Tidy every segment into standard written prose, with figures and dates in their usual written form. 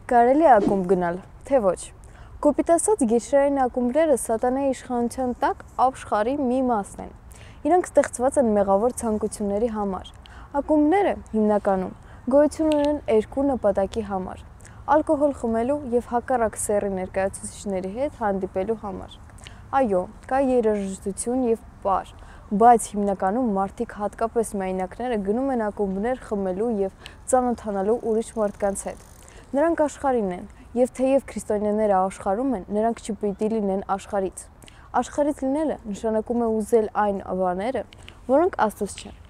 Կարելի է ակումբ գնալ, թե ոչ։ Կոպիտ ասած, գիշերային ակումբները սատանայի իշխանության տակ աշխարհի մի մասն են։ Իրանք ստեղծված են մեղավոր ցանկությունների համար։ Ակումբները հիմնականում գոյություն ունեն երկու նպատակի համար՝ ալկոհոլ խմելու եւ հակառակ սեռի ներկայացուցիչների հետ հանդիպելու համար։ Այո, կա երաժշտություն եւ պար, բայց հիմնականում մարդիկ, հատկապես միայնակները, գնում են ակումբներ խմելու եւ ծանոթանալու ուրիշ մարդկանց հետ։ Նրանք աշխարհին են, եւ թեև քրիստոնյաները աշխարհում են, նրանք չպիտի լինեն աշխարհից։ Աշխարհից լինելը նշանակում է ուզել այն բաները, որոնք Աստծուց չեն։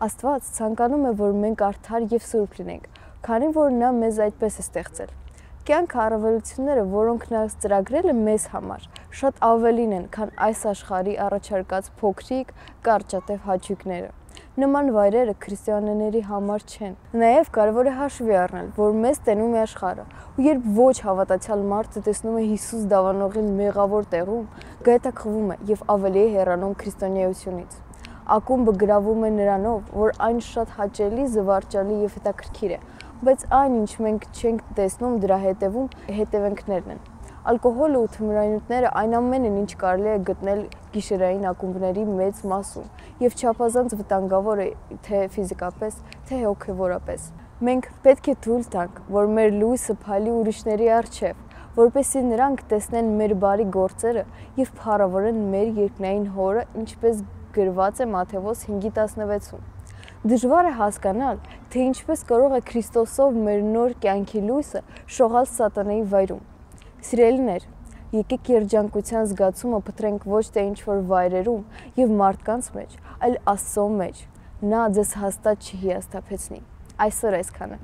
Աստված ցանկանում է, որ մենք արդար եւ սուրբ լինենք, քանի որ նա մեզ այդպես է ստեղծել։ Կյանք առավելությունները, որոնք նա ծրագրել է մեզ համար, շատ ավելին են, քան այս աշխարհի առաջարկած փոքրիկ, կարճատև հաճույքները։ Նման վայրերը քրիստոնյաների համար չեն։ Նաև կարևոր է հաշվի առնել, որ մեզ տենում է աշխարհը, ու երբ ոչ հավատացյալ մարդը տեսնում է Հիսուս դավանողին մեղավոր տեղում, գայթակղվում է եւ ավելի է հեռանում քրիստոնեությունից։ Ակումբը գրավում է նրանով, որ այն շատ հաճելի, զվարճալի եւ հետաքրքիր է, բայց այն, ինչ մենք չենք տեսնում, դրա հետևանքներն են։ Ալկոհոլը ու թմրանյութերը այն ամենն են, ինչ կարելի է գտնել գիշերային ակումբների մեծ մասում, եւ չափազանց վտանգավոր է թե ֆիզիկապես, թե հոգեվորապես։ Մենք պետք է թույլ տանք, որ մեր լույսը փալի ուրիշների առջև, որպեսզի նրանք տեսնեն մեր բարի գործերը եւ փառավորեն մեր երկնային Հորը, ինչպես գրված է Մատթեոս 5:16-ում։ Դժվար է հասկանալ, թե ինչպես կարող է Քրիստոսով մեր նոր կյանքի լույսը շողալ սատանայի վայրում։ Սիրելիներ, եկեք երջանկության զգացումը փտրենք ոչ թե ինչ-որ վայրերում եւ մարդկանց մեջ, այլ Աստծո մեջ։ Նա ձեզ հաստատ չի հիասթափեցնի։ Այսօր այսքանը։